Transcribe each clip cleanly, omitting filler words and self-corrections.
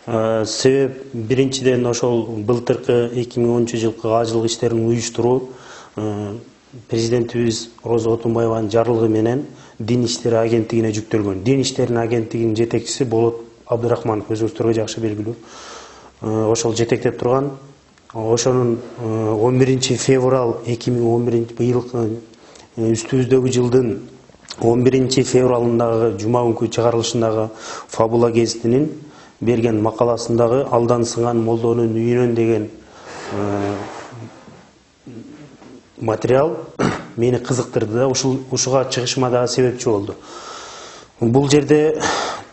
Себеп биринчиден ошол былтыркы 2013-жылкы ажылык иштерин уюштуруу президентибиз Роза Отунбаеванын жарлыгы менен Дин иштери агенттигине жүктөлгөн. Дин иштеринин агенттигинин жетекчиси Болот Абдырахманов өзүңүздөргө жакшы белгилүү. Ошол жетектеп турган. Ошонун 11 февраль 2011 быйылкы үстүбүздөгү жылдын 11 февралындагы жума күнкү чыгарылышындагы Фабула гезитинин берген макаласындагы алдан сынган молдонун үйүнөн деген материал мени кызыктырды да, ушуга чыгышыма дагы себепчи болду. Бул жерде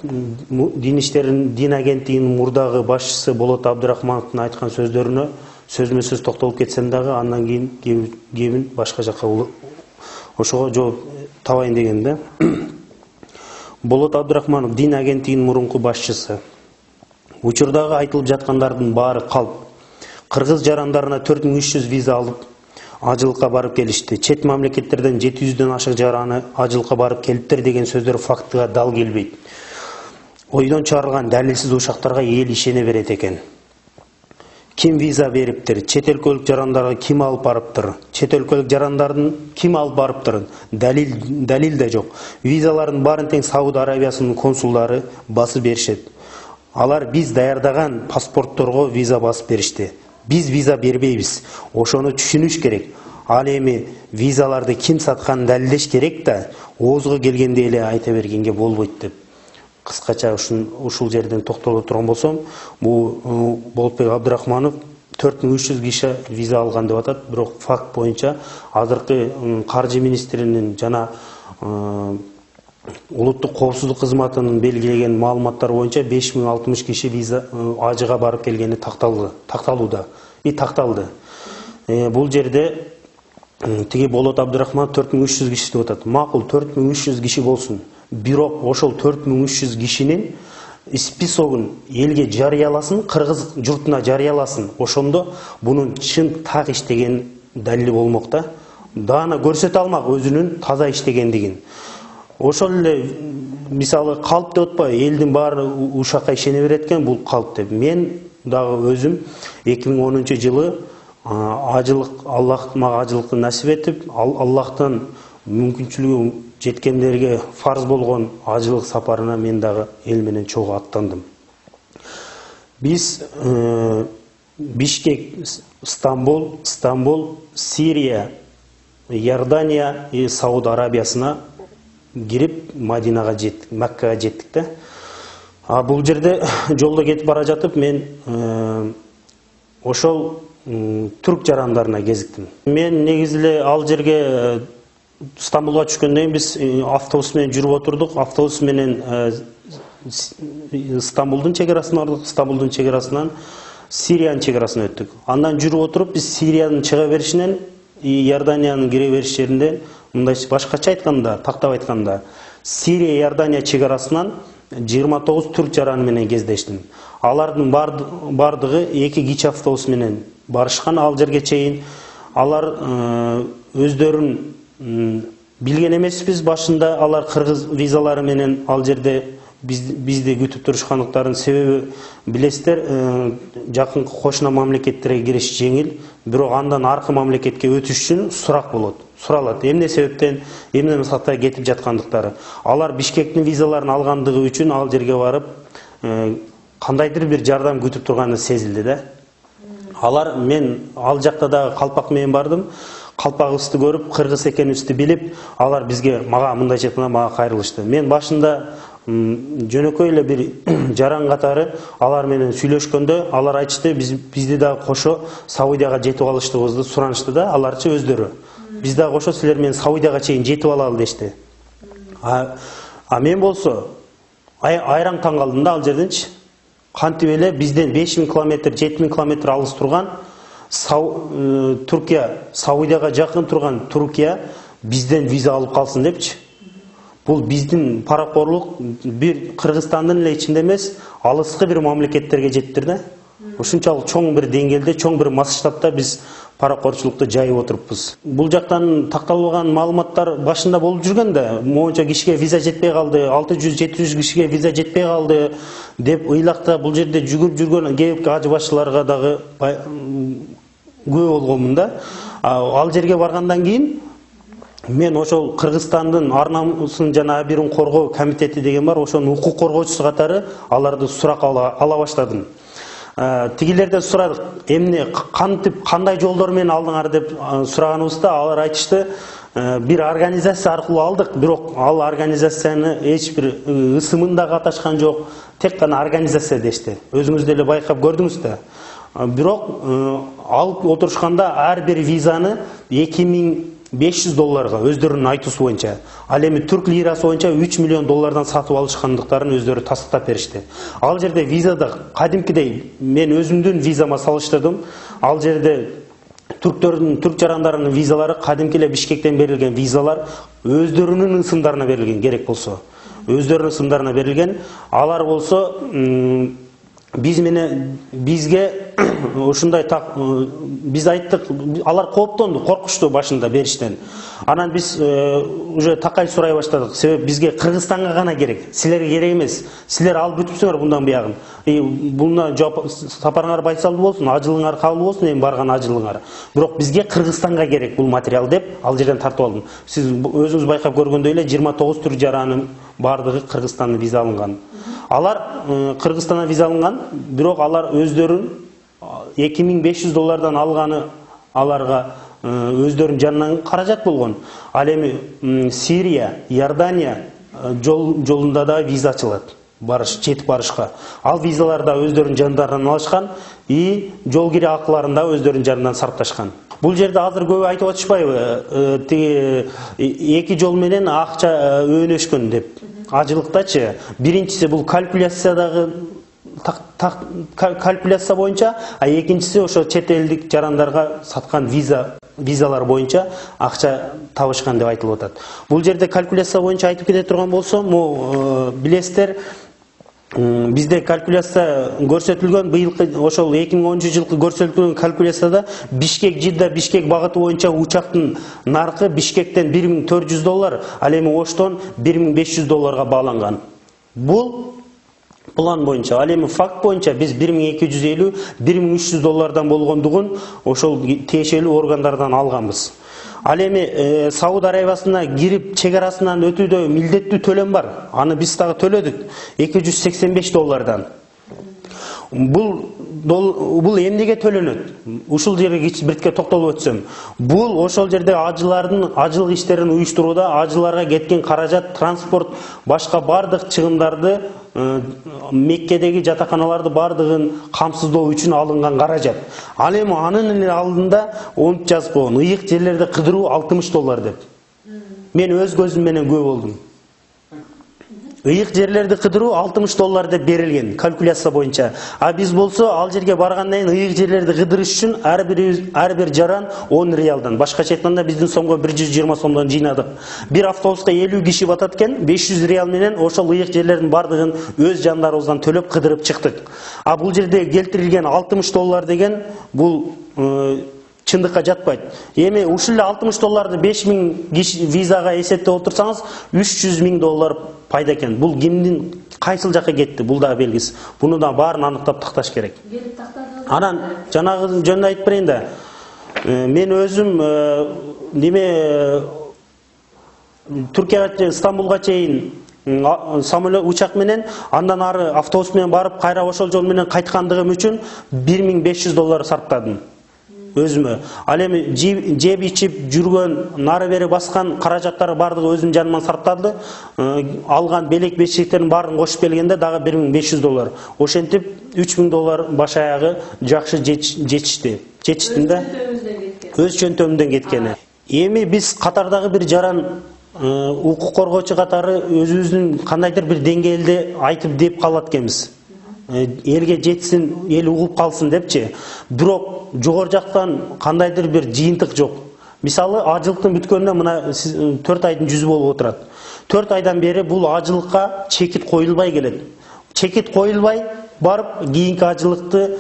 Дин агенттигинин мурдагы башчысы Болот Абдырахмановдун айткан сөздөрүнө сөзмө сөз токтолуп кетсем дагы, андан кийин кебин башка жакка ошого жооп табайын дегем да. Болот Абдырахманов Дин агенттигинин мурунку башчысы. Учурдагы айтылып жаткандардын баары калп. Кыргыз жарандарына 4300 виза алып ажылыкка барып келишти. Чет мамлекеттерден 700дөн ашык жараны ажылыкка барып келиптир деген сөздөр фактыга дал келбейт. Ойдон чыгарылган далилсиз ушактарга эл ишене берет экен. Ким виза бериптир? Чет өлкөлүк жарандарга ким алып барыптыр? Чет өлкөлүк жарандардын ким алып барыптыр? Далил да жок. Визалардын баарын тең Сауд Арабиясынын консулдары басып беришет. Алар биз даярдаган паспортторго виза басып беришти. Биз виза бербейбиз. Ошону түшүнүш керек. Ал эми визаларды ким сатканын далилдеш керек да, оозго келгенде эле айта бергенге болбойт деп. Кыскача ушул жерден токтоло турган болсом, бул Болотбек Абдырахманов 4300 киши виза алган деп атат, бирок факт боюнча азыркы каржы министринин жана улуттук коопсуздук кызматынын белгилеген маалыматтары боюнча 5060 киши виза ажыга барып келгени такталды. Бул жерде тиги Болот Абдырахманов 4300 киши деп атат. Макул, 4300 киши болсун. Бирок ошол 4300 кишинин списогун элге жарыяласын, кыргыз журтуна жарыяласын. Ошондо бунун чын так иштеген далили болмок да. Даана көрсөтө алмак өзүнүн таза иштегендигин. Ошол эле мисалы калп деп атпайбы, элдин баары ушакка ишене берет экен, бул калп деп. Мен дагы өзүм 2010-жылы Аллах мага ажылыкты насип этип, Аллахтан мүмкүнчүлүгү жеткендерге фарз болгон ажылык сапарына мен дагы эл менен чогуу аттандым. Биз Бишкек, Стамбул, Сирия, Иордания и Сауд Арабиясына кирип Мадинага жеттик, Маккага жеттик да. Бул жерде жолдо кетип бара жатып мен ошол түрк жарандарына кезиктим. Мен негизи эле ал жерге Стамбулга түшкөндөн кийин биз автобус менен жүрүп отурдук. Автобус менен Стамбулдун чегарасына бардык. Стамбулдун чегарасынан Сириянын чегарасына өттүк. Андан жүрүп отуруп биз Сириянын чыга беришинен Иорданиянын кире бериш жеринде, мындай башкача айтканда, тактап айтканда, Сирия Иордания чегарасынан 29 түрк жараны менен кездештим. Алардын бардыгы 2 кичи автобус менен барышкан ал жерге чейин. Алар өздөрүн билген эмеспиз башында, алар кыргыз визалары менен ал жерде бизди күтүп турушкандыктарын себеби билесиздер, жакынкы кошуна мамлекеттерге кириш жеңил, бирок андан аркы мамлекетке өтүш үчүн суралат. Эмне себептен, эмне максатта кетип жаткандыктары. Алар Бишкектин визаларын алгандыгы үчүн ал жерге барып кандайдыр бир жардам күтүп турганы сезилди да. Мен ал жакта дагы калпак менен бардым. Калпагыбызды көрүп, кыргыз экенибизди билип, алар мага мындайча айтканда мага кайрылышты. Мен башында жөнөкөй эле бир жаран катары алар менен сүйлөшкөндө, алар айтышты, бизди дагы кошо Саудияга жетип алыштыгыбызды суранышты да, аларчы өздөрү. Биз дагы кошо силер менен Саудияга чейин жетип алалы дешти. Мен болсо айраң таң калдым да ал жерденчи. Кантип эле бизден 5000 километр, 7000 километр алыс турган Туркия, Саудияга жакын турган Туркия бизден виза алып калсын депчи. Бул биздин паракорлук бир Кыргызстандын эле ичинде эмес, алыскы бир мамлекеттерге жеттир да. Ушунчалык чоң бир деңгээлде, чоң бир масштабта биз паракорчулукту жайып отуруппуз. Бул жактан такталбаган маалыматтар башында болуп жүргөн да, моунча кишиге виза жетпей калды, 600-700 кишиге виза жетпей калды деп ыйлакта бул жерде жүгүрүп жүргөн кээ ажы башчыларга дагы күбө болгонмун да. Ал жерге баргандан кийин мен ошол Кыргызстандын ар намысын жана абийирин коргоо комитети деген бар, ошонун укук коргоочусу катары аларды сурак ала баштадым. Тигилерден сурадык, эмне кантип кандай жолдор менен алдыңар деп сураганыбызда алар айтышты, бир организация аркылуу алдык, бирок ал организацияны эч бир ысымын да катышкан жок, тек гана организация дешти. Өзүңүз деле байкап көрдүңүз да. Бирок алып отурушканда ар бир визаны $2500 өздөрүнүн айтуусу боюнча, ал эми түрк лирасы боюнча $3 миллион сатып алышкандыктарын өздөрү тастап беришти. Ал жерде визада кадимкидей мен өзүмдүн визама салыштырдым. Ал жерде түрк жарандарынын визалары кадимки эле Бишкектен берилген визалар, өздөрүнүн ысымдарына берилген, керек болсо. Өздөрүнүн ысымдарына берилген. Алар болсо бизге ушундай биз айттык, алар кооптонду, коркушту башында бериштен. Анан биз уже такай сурай баштадык. Себеп бизге Кыргызстанга гана керек, силерге керек эмес. Силер алып бүтүпсүңөр мындан буягын. Буна сапарыңар байсалдуу болсун, ажылыңар кабыл болсун, эми барган ажылыңар. Бирок бизге Кыргызстанга керек бул материал деп ал жерден тартып алдым. Сиз өзүңүз байкап көргөндөй эле 29 түрк жаранын бардыгы Кыргызстандан виза алынган. Алар Кыргызстандан виза алынган, бирок алар өздөрүн $2500 алганы аларга өздөрүнүн жанынан каражат болгон. Ал эми Сирия, Иордания жолунда да виза ачылат. Жетип барышка. Ал визалар да өздөрүнүн жандарынан алышкан, жол кире акыларын да өздөрүнүн жанынан сарпташкан. Бул жерде азыр көп айтып атышпайбы, эки жол менен акча өөнөшкөн деп. Ажылыктачы, биринчиси бул калькуляциядагы калькуляция боюнча, а экинчиси ошо чет элдик жарандарга саткан визалар боюнча акча табышкан деп айтылып атат. Бул жерде калькуляция боюнча айтып кете турган болсом, билесиздер, бизде калькуляция көрсөтүлгөн, быйылкы ошол 2010-жылкы көрсөтүлгөн калькуляцияда Бишкек-Жидда Бишкек багыты боюнча учактын наркы Бишкектен $1400, ал эми Оштон $1500 бааланган. Бул план боюнча, ал эми факт боюнча биз $1250-1300 болгондугун ошол тиешелүү органдардан алганбыз. Ал эми Сауд Арабиясына кирип чегарасынан өтүүдө милдеттүү төлөм бар. Аны биз дагы төлөдүк $285. Бул эмнеге төлөнөт? Ушул жерге бирке токтолуп өтсөм. Бул ошол жерде ажылардын ажылык иштерин уюштурууда ажыларга кеткен каражат, транспорт, башка бардык чыгымдарды, Меккедеги жатаканаларды бардыгын камсыздоо үчүн алынган каражат. Ал эми анын алдында онт жазып койгон, ыйык жерлерди кыдыруу $60 деп. Мен өз көзүм менен күбө болдум. Ыйык жерлерди кыдыруу $60 деп берилген калькуляция боюнча. А биз болсо ал жерге баргандан кийин ыйык жерлерди кыдырыш үчүн ар бир жаран 10 реалдан, башкача айтканда биздин сомго 120 сомдон жыйнадык. Бир автобуска 50 киши батат экен, 500 реал менен ошол ыйык жерлердин бардыгын өз жандарыбыздан төлөп кыдырып чыктык. А бул жерде келтирилген $60 деген бул чындыкка жатпайт. Эми ушул эле $60 5000 киши визага эсептеп отурсаңыз, $300,000 пайда экен. Бул кимдин кайсыл жакка кетти? Бул да белгисиз. Буну да баарын аныктап такташ керек. Анан жанагы жөнүндө айтып берейин да. Мен өзүм Түркияга, Стамбулга чейин самолет, учак менен, андан ары автобус менен барып, кайра ошол жол менен кайткандыгым үчүн $1500 сарптадым. Өзүмө. Ал эми жеп ичип жүргөн, нары бери баскан каражаттары бардыгы өзүм жаныман сарпталды. Алган белек бешиктердин баарын кошуп келгенде дагы $1500. Ошентип $3000 баш аягы жакшы жетишти. Жетиштин да. Өз чөнтөмүмдөн кеткени. Эми биз катардагы бир жаран укук коргоочу катары өзүбүздүн кандайдыр бир деңгээлде айтып деп калат экенбиз. Элге жетсин, эл угуп калсын депчи. Бирок жогору жактан кандайдыр бир жыйынтык жок. Мисалы, ажылыктын бүткөнүнө мына 4 айдын жүзү болуп отурат. 4 айдан бери бул ажылыкка чекит коюлбай келет. Чекит коюлбай барып, кийинки ажылыкты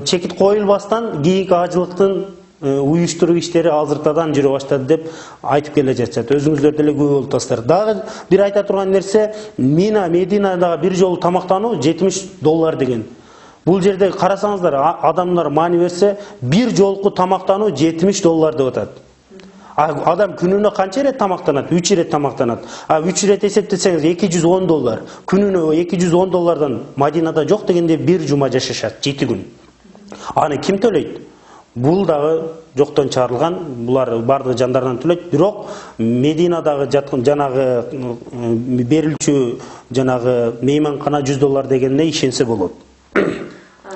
чекит коюлбастан кийинки ажылыктын уюштуруу иштери азыртадан жүрө баштады деп айтып келе жатышат. Өзүңүздөр деле күбө болуп атасыздар. Дагы бир айта турган нерсе, Мединадагы бир жолу тамактануу $70 деген. Бул жерде карасаңыздар, адамдар маани берсе, бир жолку тамактануу $70 деп атат. Адам күнүнө канча ирет тамактанат? 3 ирет тамактанат. 3 ирет эсептесеңиз $210. Күнүнө $210 Мадинада жок дегенде бир жума жашашат, 7 күн. Аны ким төлөйт? Бул дагы жоктон чыгарылган, булар бардыгы жандардан төлөйт. Бирок Мединадагы жаткан жанагы берилчү жанагы мейманкана $100 дегенде ишенсе болот.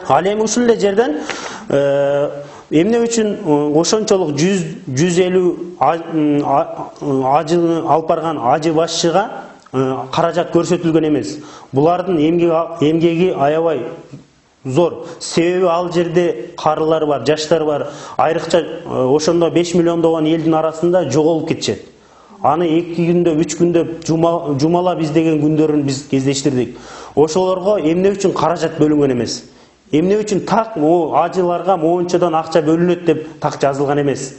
Ал эми ушул эле жерден эмне үчүн ошончолук 150 ажыны алып барган ажы башчыга каражат көрсөтүлгөн эмес. Булардын эмгеги аябай зор. Себеби ал жерде карылар бар, жаштар бар. Айрыкча ошондо 5 миллиондогон элдин арасында жоголуп кетишет. Аны 2 күндө, 3 күндө жумалап издеген күндөрүн биз кездештирдик. Ошолорго эмне үчүн каражат бөлүнгөн эмес. Эмне үчүн так ажыларга моунчадан акча бөлүнөт деп так жазылган эмес.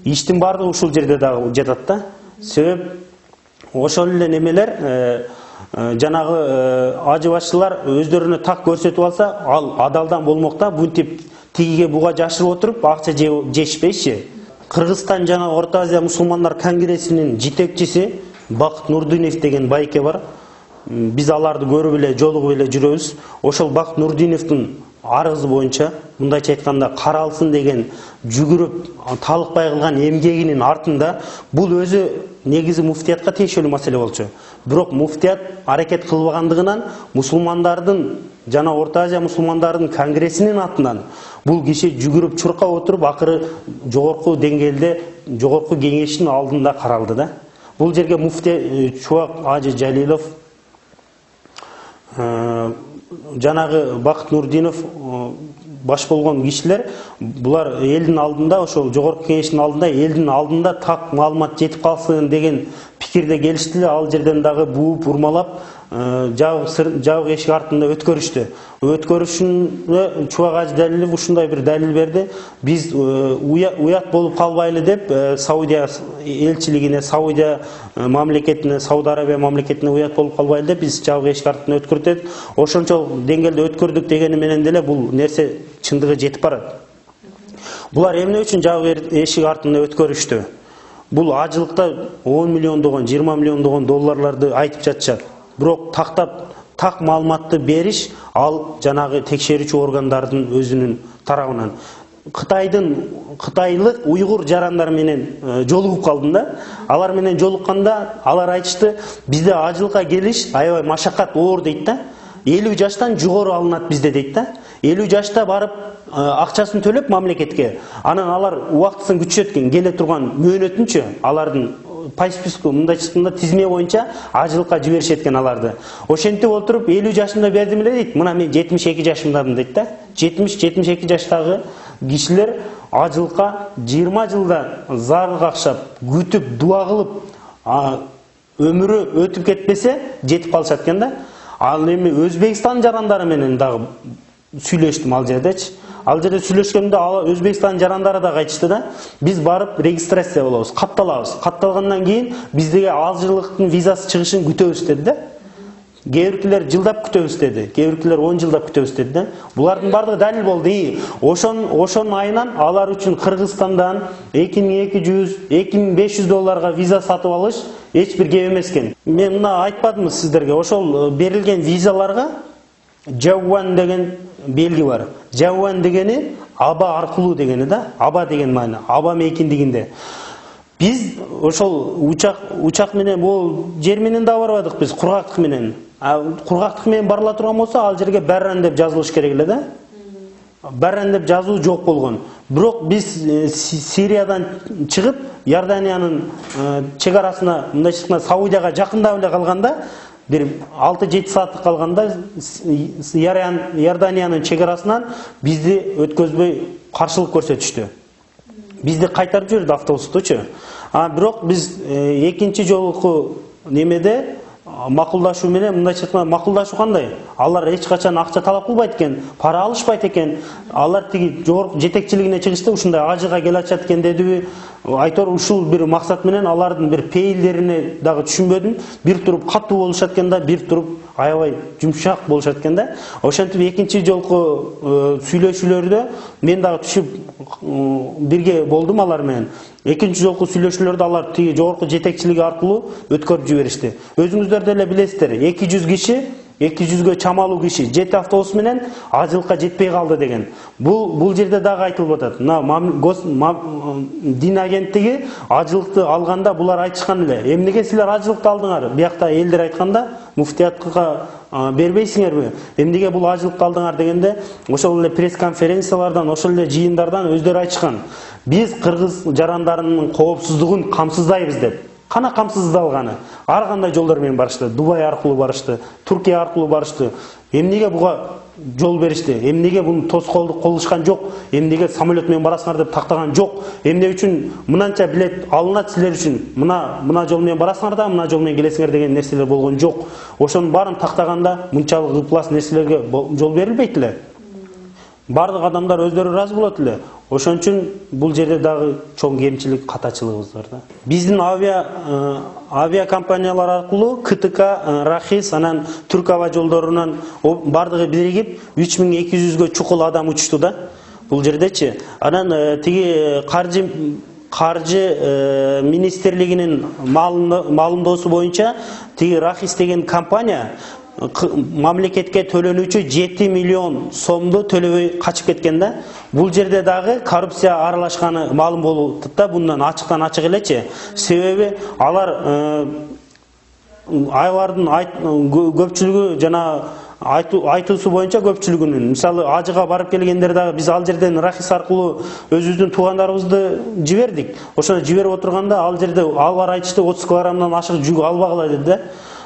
Иштин бардыгы ушул жерде дагы жатат да. Себеп ошол эле немелер жанагы ажы башчылар өздөрүнө так көрсөтүп алса, ал адалдан болмок да. Бунтип тигиге буга жашырып отуруп акча жешпейчи. Кыргызстан жана Орто Азия мусулмандар конгрессинин жетекчиси Бакыт Нурдинов деген байке бар. Биз аларды көрүп эле, жолугуп эле жүрөбүз. Ошол Бакыт Нурдиновдун арызы боюнча, мындайча айтканда, каралсын деген жүгүрүп талыкпай кылган эмгегинин артында бул өзү негизи муфтиятка тиешелүү маселе болчу. Бирок муфтият аракет кылбагандыгынан мусулмандардын жана Орто Азия мусулмандардын конгрессинин атынан бул киши жүгүрүп чуркап отуруп акыры жогорку деңгээлде, жогорку кеңештин алдында каралды да. Бул жерге муфти Чубак Ажы Жалилов, жанагы Бакыт Нурдинов баш болгон кишилер, булар элдин алдында, ошол жогорку кеңештин алдында, элдин алдында так маалымат жетип калсын деген пикирде келишти. Ал жерден дагы бууп урмалап жабык эшик артында өткөрүштү. Өткөрүшүнө Чубак Ажы Жалилов ушундай бир далил берди. Биз уят болуп калбайлы деп Саудия элчилигине, Саудия мамлекетине, Сауд Арабия мамлекетине уят болуп калбайлы деп биз жабык эшик артында өткөрдүк. Ошончол деңгээлде өткөрдүк дегени менен деле бул нерсе чындыгы жетип барат. Булар эмне үчүн жабык эшик артында өткөрүштү? Бул ажылыкта 10 миллиондогон, 20 миллиондогон долларларды айтып жатышат. Бирок так маалыматты бериш ал жанагы текшерүүчү органдардын өзүнүн тарабынан. Кытайлык уйгур жарандар менен жолугуп калдым да. Алар менен жолукканда алар айтышты, бизде ажылыкка келиш аябай машакат оор дейт да. 50 жаштан жогору алынат бизде дейт да. 50 жашта барып акчасын төлөп мамлекетке, анан алар убактысын күтүшөт экен, келе турган мөөнөтүнчө алардын по списку мындайча тизме боюнча ажылыкка жиберишет экен аларды. Ошентип отуруп 50 жашымда бердим эле дейт. Мына мен 72 жашымдамын дейт да. 70-72 жаштагы кишилер ажылыкка 20 жылда зар какшап, күтүп, дуа кылып, өмүрү өтүп кетпесе жетип калышат экен да. Ал эми Өзбекстан жарандары менен дагы сүйлөштүм ал жердечи. Ал жерде сүйлөшкөндө Өзбекстан жарандары да айтышты да, биз барып регистрация болобуз, катталабыз. Катталгандан кийин биздеги ажылыктын визасы чыгышын күтөбүз деди да. Кээ биркилер жылдап күтөбүз деди, кээ биркилер 10 жылдап күтөбүз деди да. Булардын бардыгы далил болду. Ошонун айынан алар үчүн Кыргызстандан $2200-2500 виза сатып алыш эч бир кеп эмес экен. Мен мына айтпадымбы сиздерге, ошол берилген визаларга Жауан деген белги бар. Жауан дегени аба аркылуу дегени да. Аба деген маани, аба мейкиндигинде. Биз ошол учак менен, бул жер менен да барбадык биз, кургактык менен. Кургактык менен барыла турган болсо, ал жерге Барран деп жазылыш керек эле да. Барран деп жазуу жок болгон. Бирок биз Сириядан чыгып, Иорданиянын чегарасына, мындайча Саудияга жакындап эле калганда, бир 6-7 сааттык калганда Иорданиянын чегарасынан бизди өткөзбөй каршылык көрсөтүштү. Бизди кайтарып жиберди автобустучу. Бирок биз экинчи жолку немеде макулдашуу менен мындайча айтканда макулдашуу кандай? Алар эч качан акча талап кылбайт экен, пара алышпайт экен. Алар тиги жогорку жетекчилигине чыгышты ушундай ажыга келе атышат экен дедиби? Айтор ушул бир максат менен алардын бир пейилдерине дагы түшүнбөдүм. Бир туруп катуу болушат экен да, бир туруп аябай жумшак болушат экен да. Ошентип экинчи жолку сүйлөшүүлөрдө мен дагы түшүп бирге болдум алар менен. Экинчи жолку сүйлөшүүлөрдө алар тиги жогорку жетекчилиги аркылуу өткөрүп жиберишти. Өзүңүздөр деле билесиздер, 200 киши, 200гө чамалуу киши 7 автобус менен ажылыкка жетпей калды деген. Бул жерде дагы айтылып атат. Дин агенттиги ажылыкты алганда булар айтышкан эле. Эмнеге силер ажылыкты алдыңар? Биякта элдер айтканда, муфтиятка бербейсиңерби? Эмнеге бул ажылыкты алдыңар дегенде, ошол эле пресс-конференциялардан, ошол эле жыйындардан өздөрү айтышкан. Биз кыргыз жарандарынын коопсуздугун камсыздайбыз деп. Кана камсыздалганы? Ар кандай жолдор менен барышты. Дубай аркылуу барышты, Туркия аркылуу барышты. Эмнеге буга жол беришти? Эмнеге буну тоскоолдук кылышкан жок? Эмнеге самолет менен барасыңар деп тактаган жок? Эмне үчүн мынанча билет алынат силер үчүн? Мына жол менен барасыңар да, мына жол менен келесиңер деген нерселер болгон жок. Ошонун баарын тактаганда мынчалык ыплас нерселерге жол берилбейт эле. Бардык адамдар өздөрү ыраазы болот эле. Ошон үчүн бул жерде дагы чоң кемчилик, катачылыгыбыз бар да. Биздин авиакомпаниялар аркылуу КТК, Рахис, анан Түрк аба жолдорунан бардыгы биригип 3200гө чукул адам учушту да. Бул жердечи. Анан тиги каржы министрлигинин маалымдоосу боюнча тиги Рахис деген компания мамлекетке төлөнүүчү 7 миллион сомду төлөбөй качып кеткен да. Бул жерде дагы коррупция аралашканы маалым болуп атат да, bundan ачыктан ачык элечи. Себеби алардын көпчүлүгү жана айтуусу боюнча көпчүлүгүнүн, мисалы ажыга барып келгендер дагы биз ал жерден Рахис аркылуу өзүбүздүн туугандарыбызды жибердик. Ошону жиберип отурганда ал жерде алар айтышты 30 килограммдан ашык жүк албагыла деди да.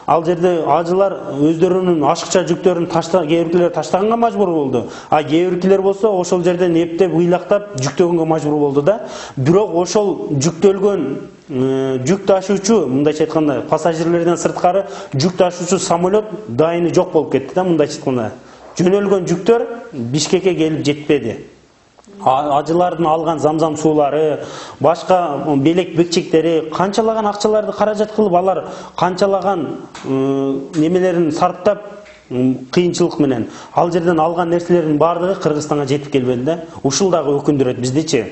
Ал жерде ажылар өздөрүнүн ашыкча жүктөрүн кээ биркилер таштаганга мажбур болду. А кээ биркилер болсо ошол жерден эптеп ыйлактап жүктөгөнгө мажбур болду да. Бирок ошол жүктөлгөн жүк ташуучу, мындайча айтканда, пассажирлерден сырткары жүк ташуучу самолет дайыны жок болуп кетти да, мындайча айтканда. Жөнөлгөн жүктөр Бишкекке келип жетпеди. Ажылардын алган замзам суулары, башка белек бекчектери, канчалаган акчаларды каражат кылып, алар канчалаган немелерин сарптап кыйынчылык менен ал жерден алган нерселердин баардыгы Кыргызстанга жетип келбеди да. Ушул дагы өкүндүрөт биздичи.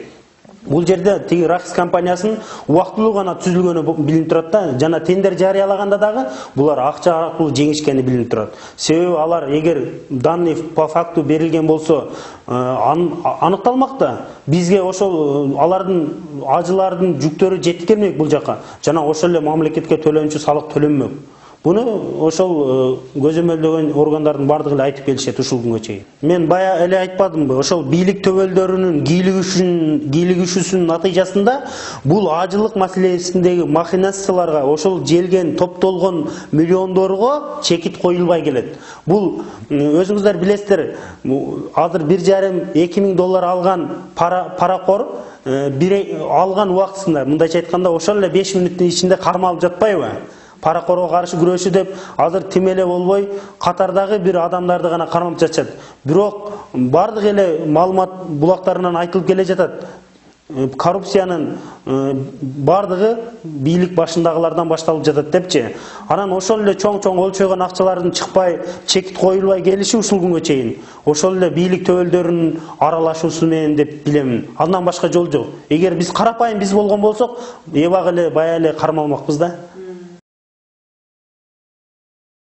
Бул жерде тиги Рахис компаниясынын убактылуу гана түзүлгөнү билинип турат да. Жана тендер жарыялаганда дагы булар акча аркылуу жеңишкени билинип турат. Себеби алар эгер данный по факту берилген болсо аныкталмакта, бизге ошол алардын ажылардын жүктөрү жетип келмек бул жака. Жана ошол эле мамлекетке төлөнчү салык төлөнмөк. Буну ошол көзөмөлдөгөн органдардын бардыгы эле айтып келишет ушул күнгө чейин. Мен бая эле айтпадымбы, ошол бийлик төбөлдөрүнүн кийлигишүүсүнүн натыйжасында бул ажылык маселесиндеги махинацияларга, ошол желген топтолгон миллиондорго чекит коюлбай келет. Бул өзүңүздөр билесиздер, азыр 1,5-2 миң доллар алган паракор алган убактысында, мындайча айтканда, ошол эле 5 мүнөттүн ичинде кармалып жатпайбы? Паракорго каршы күрөшүү деп азыр тим эле болбой катардагы бир адамдарды гана кармап жатышат. Бирок бардык эле маалымат булактарынан айтылып келе жатат. Коррупциянын бардыгы бийлик башындагылардан башталып жатат депчи. Анан ошол эле чоң-чоң өлчөгөн акчалардын чыкпай, чекит коюлбай келиши ушул күнгө чейин ошол эле бийлик төбөлдөрүнүн аралашуусу менен деп билемин. Андан башка жол жок. Эгер биз карапайым биз болгон болсок, эбак эле бая эле кармалмакпыз да.